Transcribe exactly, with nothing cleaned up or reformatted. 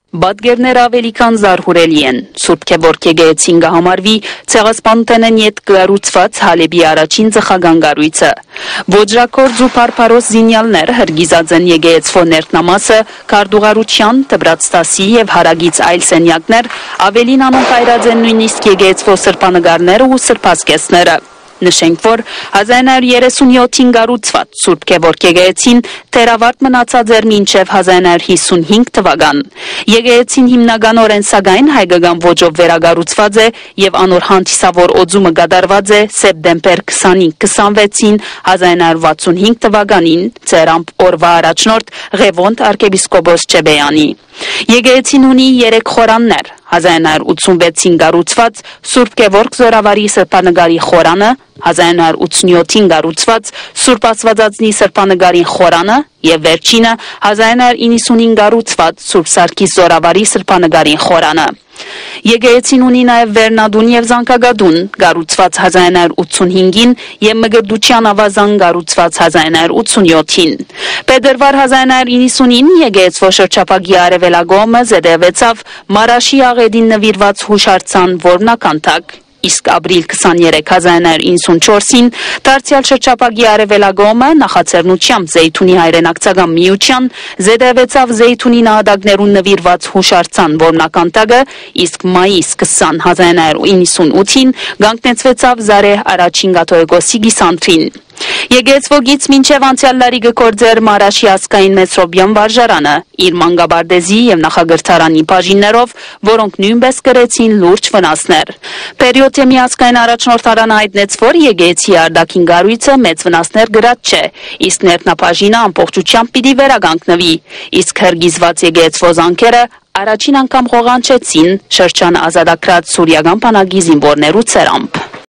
Պատկերները աւելի քան զարհուրելի են։ Սուրբ Գեորգ եկեղեցին կը համարուի Ցեղասպանութենէն ետք կառուցուած Հալէպի առաջին ծխական կառոյցը։ Ոճրագործ ու բարբարոս զինեալներ յրկիզած են եկեղեցւոյ ներքնամասը, քարտուղարութեան, դպրաց դասի եւ հարակից այլ սենեակներ, աւելին անոնք այրած են նոյնիսկ եկեղեցւոյ սրբանկարները ու սրբազգեստները։ Նշենք, որ հազար ինը հարիւր երեսունեօթին կառուցուած Սուրբ Գեորգ եկեղեցին դեռ աւարտ մնացած էր մինչեւ հազար ինը հարիւր յիսունհինգ թուական։ Եկեղեցին հիմնականօրէն, սակայն, հայկական ոճով վերակառուցուած է եւ անոր հանդիսաւոր օծումը կատարուած է սեպտեմբեր քսանհինգ քսանվեցին հազար ինը հարիւր վաթսունհինգ թուականին, ծերամբ օրուայ առաջնորդ Ղեւոնդ արքեպիսկոպոս Չեբեանի։ Եկեղեցին ունի երեք խորաններ. հազար ինը հարիւր ութսունվեցին կառուցուած Սուրբ Գեորգ Զօրավարի սրբանկարի խորանը, հազար ինը հարիւր ութսունեօթին կառուցուած Սուրբ Աստուածածնի սրբանկարին խորանը եւ վերջինը՝ հազար ինը հարիւր իննսունին կառուցուած Սուրբ Սարգիս Զօրավարի սրբանկարին խորանը։ Եկեղեցին ունի նաեւ վերնատուն եւ զանգակատուն, կառուցուած հազար ինը հարիւր ութսունհինգին, եւ մկրտութեան աւազան, կառուցուած հազար ինը հարիւր ութսունեօթին։ Փետրուար հազար ինը հարիւր իննսունին եկեղեցւոյ շրջափակի արեւելագոմը զետեղուեցաւ Մարաշի աղէտին նուիրուած յուշարձան որմնաքանդակ, իսկ ապրիլ քսաներեք հազար ինը հարիւր իննսունչորսին դարձեալ շրջափակի արեւելագոմը նախաձեռնութեամբ Զէյթունի հայրենակցական միութեան զետեղուեցաւ Զէյթունի նահատակներուն նուիրուած յուշարձան որմնաքանդակը, իսկ մայիս քսան հազար ինը հարիւր իննսունութին կանգնեցուեցաւ Զարեհ առաջին կաթողիկոսի կիսանդրին։ Եկեղեցւոյ կից մինչեւ անցեալ տարի կը գործէր Մարաշի ազգային մեծրոպեան վարժարանը, իր մանկապարտէզի եւ նախակրթարանի բաժիններով, որոնք նոյնպէս կրեցին լուրջ վնասներ։ Պերիոթեմի ազգային առաջնորդարանը յայտնեց, որ եկեղեցի արտաքին կառոյցը մեծ վնասներ կրած չէ, իսկ ներքնաբաժինը ամբողջութեամբ պիտի վերականգնուի, իսկ յրկիզուած եկեղեցւոյ զանգերը առաջին անգամ ղօղանջեցին շրջանը ազատագրած սուրիական բանակի զինուորներու ցերամբ։